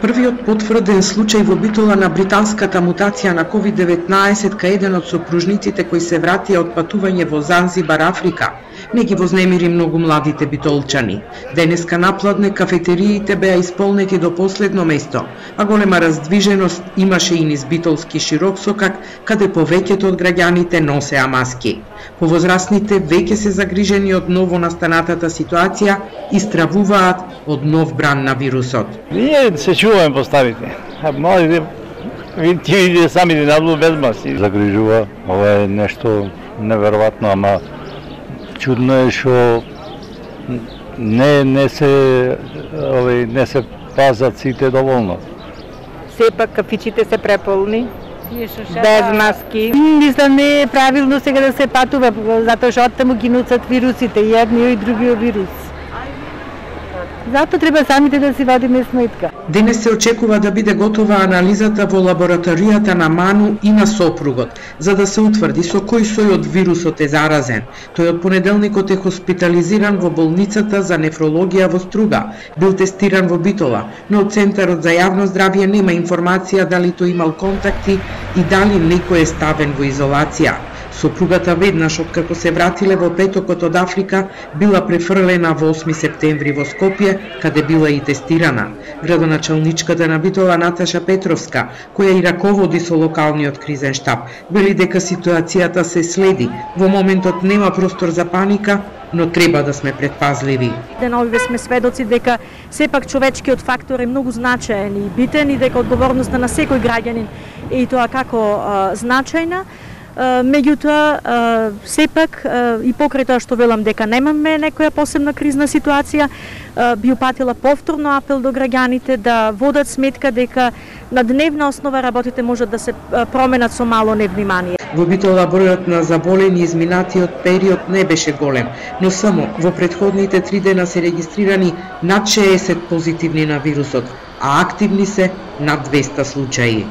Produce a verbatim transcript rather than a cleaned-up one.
Првиот потврден случај во Битола на британската мутација на ковид деветнаесет кај еден од сопружниците кои се вратија од патување во Занзибар, Африка, не ги вознемири многу младите битолчани. Денеска напладне кафетериите беа исполнети до последно место, а голема раздвиженост имаше и низ битолски широк сокак, каде повеќето од граѓаните носеа маски. Повозрасните веќе се загрижени од ново настанатата ситуација и стравуваат од нов бран на вирусот. Ние се чуваме поставите. Младите видите самите надлу без маски. Загрижува, ова е нешто неверојатно, ама чудно е што не не се овој не се пазат сите доволно. Сепак кафичите се преполни. Без маски. Мислам не е правилно сега да се патува, затоа што оттаму ги носат вирусите, и едниот и другиот вирус. Затоа треба самите да си вадиме сметка. Денес се очекува да биде готова анализата во лабораторијата на Ману и на сопругот, за да се утврди со кој сој од вирусот е заразен. Тој од понеделникот е хоспитализиран во болницата за нефрологија во Струга. Бил тестиран во Битола, но од Центарот за јавно здравје нема информација дали тој имал контакти и дали некој е ставен во изолација. Сопругата веднаш откако се вратиле во петокот од Африка, била префрлена во осми септември во Скопје, каде била и тестирана. Градоначалничката на Битола Наташа Петровска, која и раководи со локалниот кризен штаб, вели дека ситуацијата се следи. Во моментот нема простор за паника, но треба да сме предпазливи. Деновиве сме сведоци дека сепак човечкиот фактор е многу значаен и битен и дека одговорноста на секој граѓанин е и тоа како а, значајна. Меѓутоа, сепак, и покрај тоа што велам дека немаме некоја посебна кризна ситуација, би упатила повторно апел до граѓаните да водат сметка дека на дневна основа работите можат да се променат со мало невнимание. Во Битола бројот на заболени изминатиот период не беше голем, но само во претходните три дена се регистрирани над шеесет позитивни на вирусот, а активни се над двеста случаи.